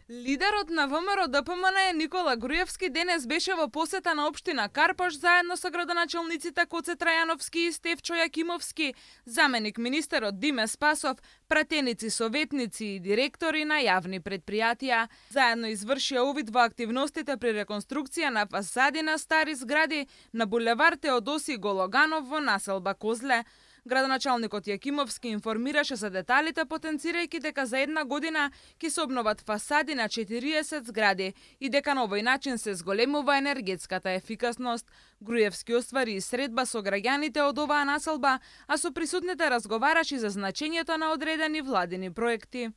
Лидерот на ВМРО-ДПМН Никола Груевски денес беше во посета на општина Карпош заедно со градоначалниците Коце Трајановски и Стефчо Јакимовски, заменик министерот Диме Спасов, пратеници, советници и директори на јавни предпријатија. Заедно извршија увид во активностите при реконструкција на фасади на стари згради на булевар Теодоси Гологанов во населба Козле. Градоначалникот Јакимовски информираше за деталите, потенцирајќи дека за една година ќе се обноват фасади на 40 згради и дека на овој начин се зголемува енергетската ефикасност. Груевски оствари и средба со граѓаните од оваа населба, а со присутните разговараше за значењето на одредени владини проекти.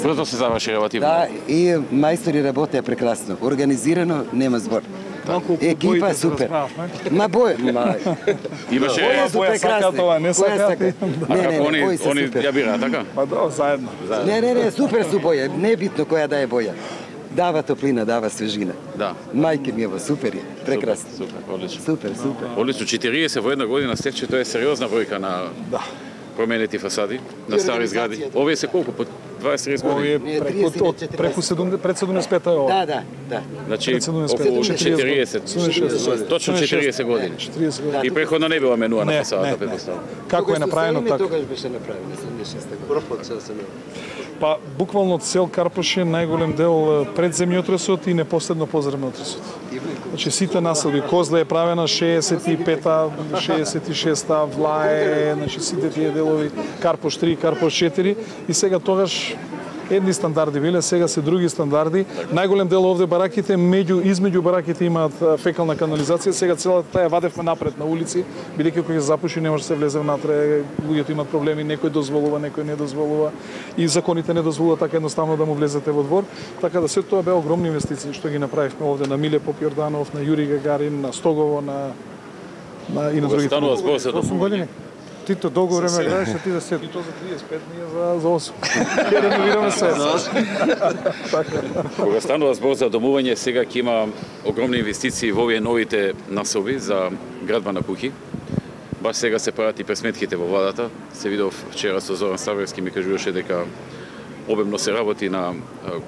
Брзо се заврши релативно. Да, и мајстори работеа прекрасно. Организирано, нема збор. Екипа супер. Имаше боја сака тоа, не сака. Они ја бираат, така? Па да, заедно. Не, супер су боја, не е битно која да е боја. Дава топлина, дава свежина. Да. Мајке ми ево, супер е, прекрасно. Супер, одлично. Супер. Одлично, 40 во една година, Стефче, тоа е сериозна бројка на променети фасади на стари згради. Овие се колку по 20-30 години? Овие преку 75-та е ова. Да. Значи околу 40, точно 40 години. И преходно не била менуана фасадата, предпоставам. Како е направено така? Тогаш беше направено, 76-та година. Па буквално цел Карпош е најголем дел пред земјотресот и непосредно по земјотресот. Значи сите населби, Козле е правена 65-та, 66-та, Влае, значи сите тие делови, Карпош 3, Карпош 4 и сега тогаш едни стандарди биле, сега се други стандарди. Најголем дел овде бараките, измеѓу бараките имаат фекална канализација, сега целата таа вадевме напред на улици, бидејќи кога се запуши не може да се влезе внатре, луѓето имаат проблеми, некој дозволува, некој не дозволува и законите не дозволуваат така едноставно да му влезете во двор. Така да се тоа беа огромни инвестиции што ги направивме овде на Миле Попјорданов, на Јури Гагарин, на Стогово, и на другите. Станува збор за 8 години. Тито долго време гледаш, ти за 7. И то за 35, ние за 8. Ќе реновираме се. Кога станува збор за домување, сега ќе има огромни инвестиции во овие новите населби за градба на куќи. Баш сега се прават и пресметките во владата. Се видов вчера со Зоран Ставерски, ми кажуваше дека обемно се работи на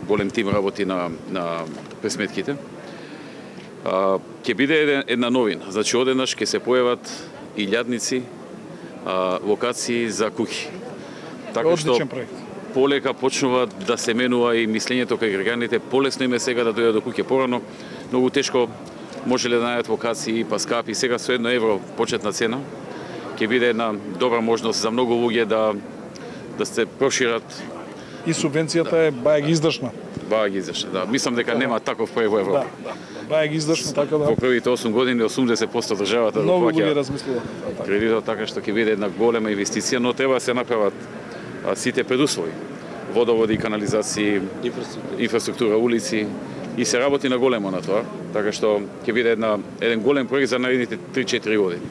голем тим работи на пресметките. Ќе биде една новина. Значи одеднаш ќе се појават илјадници локации за куќи. Така што полека почнува да се менува и мислењето кај граѓаните, полесно им е сега да дојдат до куќе. Порано многу тешко можеле да најдат локации, па скапи. Сега со €1 почетна цена ќе биде една добра можност за многу луѓе да се прошират. И субвенцијата е баја ги издржна. Да. Мислам дека нема таков проект во Европа. Баја ги издржна, така да. Во првите 8 години 80% државата да многу луѓе размислува. Кредитот, така што ќе биде една голема инвестиција, но треба да се направат сите предуслови. Водоводи, канализации, инфраструктура, улици и се работи на големо на тоа, така што ќе биде еден голем проект за наредните 3-4 години.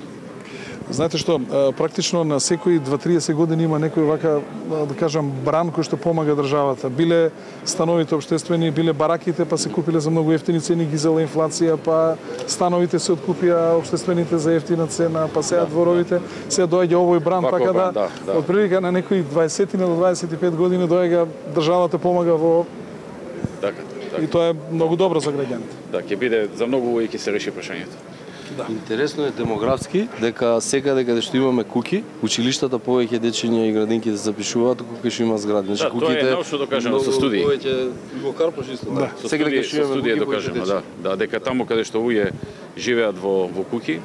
Знаете што, практично на секои 2-30 години има некој вака, да кажам, бран кој што помага државата. Биле становите општествени, биле бараките, па се купиле за многу ефтини цени, ги зела инфлација, па становите се откупија општествените за ефтина цена, па сега дворовите, сега доаѓа овој бран, така да, од прилика на некои 20 до 25 години доаѓа државата помага во... Така. И тоа е многу добро за граѓаните. Да, ќе биде за многу луѓе ќе се реши прашањето. Да. Интересно е демографски дека секаде каде што имаме куќи, училиштата повеќе дечиња и градинки се запишуваат кога што има згради. Значи куќите тоа е научно докажано со студии. Повеќе во Карпош исто. Да. Со студии докажано, да, дека таму каде што луѓе живеат во куќи,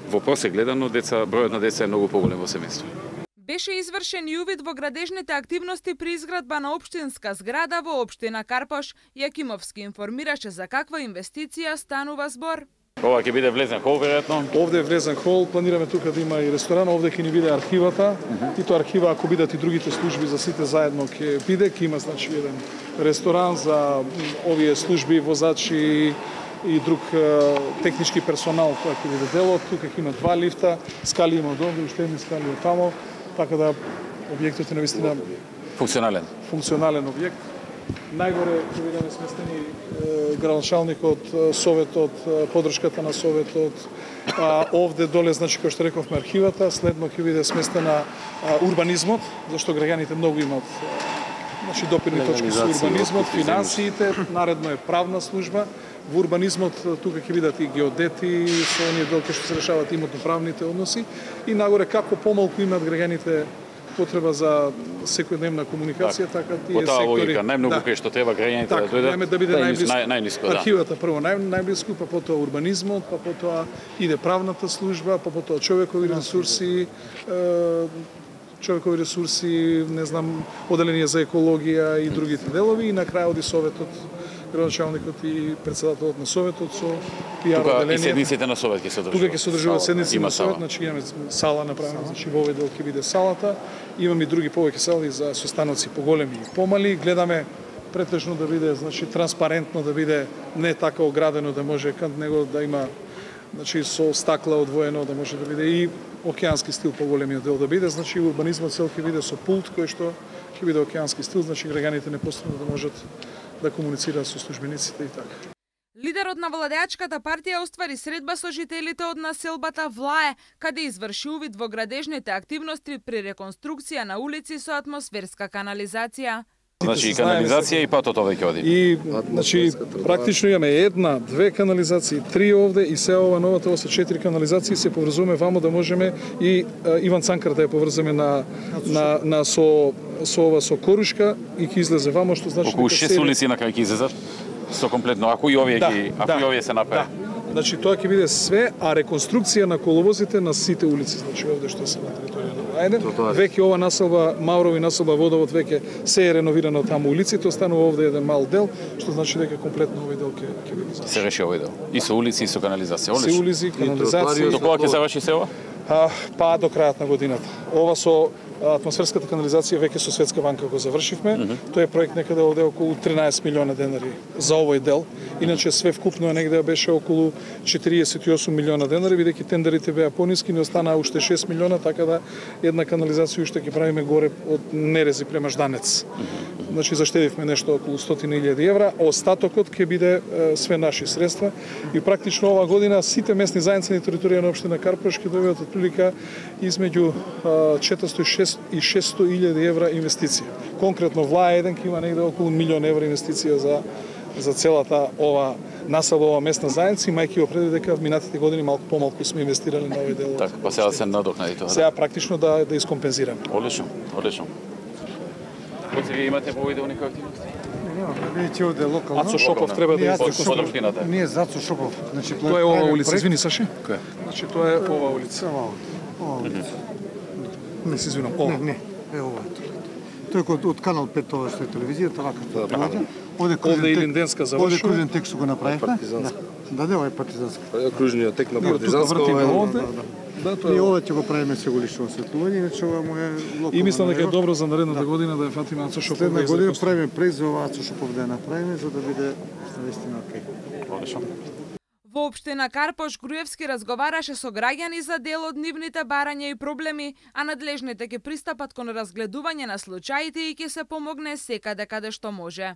во просек гледано бројот на деца е многу поголем во семејство. Беше извршен и увид во градежните активности при изградба на општинска зграда во општина Карпош. Јакимовски информираше за каква инвестиција станува збор. Ова ќе биде влезен хол, веројатно? Овде е влезен хол, планираме тука да има и ресторан, овде ќе ни биде архивата. И тоа архива, ако бидат и другите служби за сите заедно ќе биде, ќе има значи еден ресторан за овие служби, возачи и друг технички персонал кој ќе биде делот. Тука ќе има 2 лифта, скали има долго, уште едни скали од тамо, така да објектот е навистина функционален објект. Најгоре ќе бидеме сместени градоначалникот, советот, поддршката на советот. Овде доле, значи, кој што рековме, архивата, следно ќе биде сместена урбанизмот, зашто граѓаните многу имат Значи допирни точки со урбанизмот, финансиите, наредно е правна служба. Во урбанизмот тука ќе видат и геодети, со оние делки што се решаваат имотно-правните односи и нагоре како помалку имаат граѓаните потреба за секојдневна комуникација, така тие сектори. По таа логика, најмногу кај што треба граѓаните да дојдат. Да биде најниско, да. Архивата прво најблиску, па потоа урбанизмот, па потоа иде правната служба, па потоа човекови ресурси, не знам, оделение за екологија и другите делови и на крај оди советот, градоначалникот и председателот на советот со пиар оделение. Тука и седниците на совет ќе се одржуваат. Тука ќе се одржуваат седници на совет, значи имаме сала направена, значи во овој дел ќе биде салата. Имаме и други повеќе сали за состаноци поголеми и помали. Гледаме претежно да биде, значи транспарентно, да биде не така оградено, да може кај него да има, значи со стакла одвоено, да може да биде и океански стил поголемиот дел да биде, значи урбанизмот цел ќе биде со пулт кој што ќе биде океански стил, значи граѓаните непосредно да можат да комуницираат со службениците и така. Лидерот на владеачката партија оствари средба со жителите од населбата Влае, каде изврши увид во градежните активности при реконструкција на улици со атмосферска канализација. Значи и канализација и патото веќе оди. И значи практично имаме една, две канализации, три овде и се ова новата ова се 4 канализации, се поврзуваме вамо да можеме и Иван Цанкар да ја поврзаме со Корушка и ќе излезе вамо, што значи околу 6 улици на крај ќе излезат со комплетно, ако и овие се направи. Значи тоа ќе биде све, а реконструкција на коловозите на сите улици, значи овде што се на територија на Лајден. Веќе ова населба Маурови населба Водовод веќе се е реновирано таму улиците, останува овде еден мал дел, што значи дека комплетно овој дел ќе биде завршен. Се реши овој дел. И со улици и со канализација. Се улици, канализација. До кога ќе заврши се ова? Па до крајот на годината. Ова со атмосферската канализација веќе со Светска банка го завршивме. Тој е проект некаде овде околу 13 милиона денари за овој дел. Иначе све вкупно негде беше околу 48 милиона денари, бидејќи тендерите беа пониски, не останаа уште 6 милиона, така да една канализација уште ќе правиме горе од Нерези према Жданец. Значи заштедивме нешто околу 100.000 евра, остатокот ќе биде све наши средства и практично ова година сите местни заедници на територија на општина Карпош ќе добијат отприлика измеѓу 406 и 600.000 евра инвестиција. Конкретно Влаја 1 ќе има негде околу 1 милион евра инвестиција за целата ова населба, ова местна заедница, имајќи го предвид дека в минатите години малку помалку сме инвестирали на овој дел. Така, па сега се надокнади тоа. Сега практично да искомпензираме. Одлично. Кои вие имате по овој дел некои активности? Видите овде локално. Ацо Шопов треба да од општината. Ние за Ацо Шопов. Значи тоа е ова улица, извини Саши. Која? Значи тоа е ова улица. Ова улица. Не се извинам. Ова. Не, е ова. Тој од канал 5 тоа што е телевизијата, вака што доаѓа. Овде Илинденска завршува. Овде кружен тек што го направивме. Да, ова е партизанска. Кружниот тек на партизанска. Да, тоа и ова ќе го правиме сега лично осветлување, иначе ова му е локално. И мислам дека е добро за наредната година да ја фатиме Ацо Шопов. Следна година правиме проект за ова Ацо Шопов да ја направиме за да биде навистина окей. Одлично. Во општина Карпош Груевски разговараше со граѓани за дел од нивните барања и проблеми, а надлежните ќе пристапат кон разгледување на случаите и ќе се помогне секаде каде што може.